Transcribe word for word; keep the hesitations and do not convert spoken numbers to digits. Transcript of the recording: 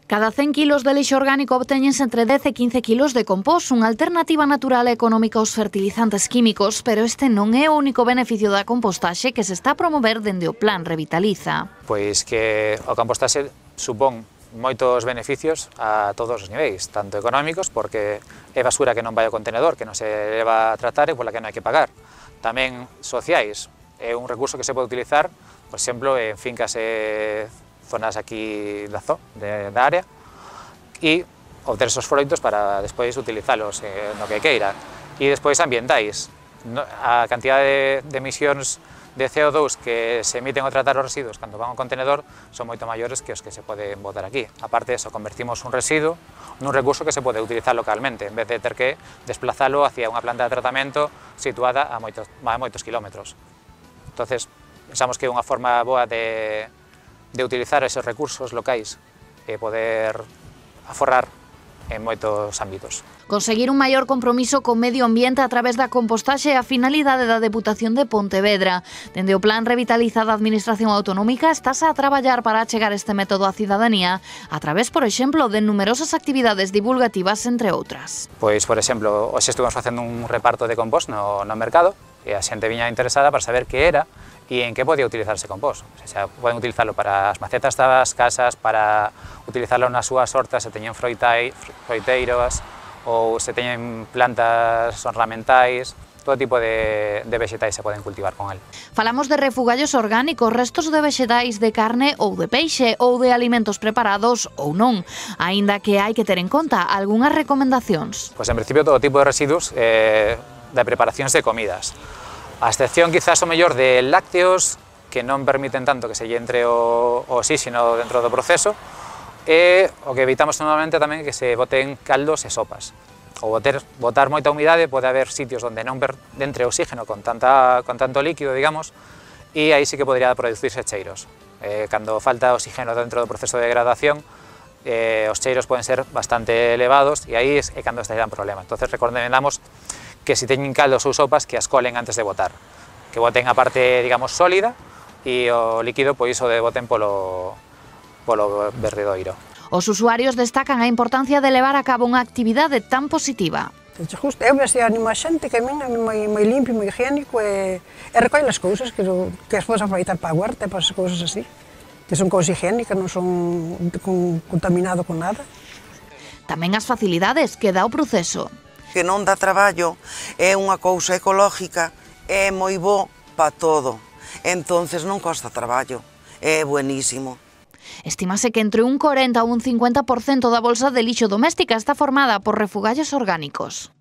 Cada cen kilos de lixo orgánico obtéñense entre dez e quince kilos de compost, unha alternativa natural e económica aos fertilizantes químicos, pero este non é o único beneficio da compostaxe que se está a promover dende o Plan Revitaliza. Pois que o compostaxe supón moitos beneficios a todos os niveis, tanto económicos, porque é basura que non vai ao contenedor, que non se leva a tratar e pola que non hai que pagar. Tamén sociais, é un recurso que se pode utilizar, por exemplo, en fincas e zonas aquí da, zo, de, da área, e obter esos froitos para despois utilizalos eh, no que queira. E despois ambientais, no, a cantidad de, de emisións de C O dos que se emiten ao tratar os residuos cando van ao contenedor son moito maiores que os que se poden botar aquí. Aparte de eso, convertimos un residuo nun recurso que se pode utilizar localmente, en vez de ter que desplazalo hacia unha planta de tratamento situada a moitos, a moitos kilómetros. Entonces, pensamos que é unha forma boa de, de utilizar esos recursos locais e poder aforrar en moitos ámbitos. Conseguir un maior compromiso co medio ambiente a través da compostaxe é a finalidade da Deputación de Pontevedra. Dende o Plan Revitaliza da Administración Autonómica estase a traballar para achegar este método á cidadanía a través, por exemplo, de numerosas actividades divulgativas, entre outras. Pois, por exemplo, hoxe estuvemos facendo un reparto de compost no, no mercado e a xente viña interesada para saber que era e en que podía utilizarse compost. O sea, poden utilizarlo para as macetas das casas, para utilizarlo nas súas hortas se teñen froitai, froiteiros ou se teñen plantas ornamentais, todo tipo de, de vexetais se poden cultivar con el. Falamos de refugallos orgánicos, restos de vexetais de carne ou de peixe ou de alimentos preparados ou non, aínda que hai que ter en conta algunhas recomendacións. Pois en principio todo tipo de residuos eh, de preparacións de comidas. A excepción quizás o mellor de lácteos que non permiten tanto que se lle entre o, o oxígeno dentro do proceso, e o que evitamos normalmente tamén é que se boten caldos e sopas. O boter, botar moita humidade, pode haber sitios onde non entre oxígeno con, tanta, con tanto líquido, digamos, e aí sí que podría producirse cheiros. Eh, cando falta oxígeno dentro do proceso de degradación, eh, os cheiros poden ser bastante elevados e aí é cando estaría un problema. Entonces recomendamos que se teñen caldos ou sopas que as colen antes de botar, que boten a parte, digamos, sólida e o líquido, pois, o de boten polo, polo verdedoiro. Os usuarios destacan a importancia de levar a cabo unha actividade tan positiva. Justo, eu vese animo a xente que camina moi, moi limpio, moi higiénico e, e recolle as cousas que, que as podes aproveitar para a huerta e para as cousas así, que son cousas higiénicas, non son con, contaminado con nada. Tamén as facilidades que dá o proceso. Que non dá traballo, é unha cousa ecológica, é moi bo para todo, entonces non costa traballo, é buenísimo. Estímase que entre un corenta ou un cincuenta por cento da bolsa de lixo doméstica está formada por refugallos orgánicos.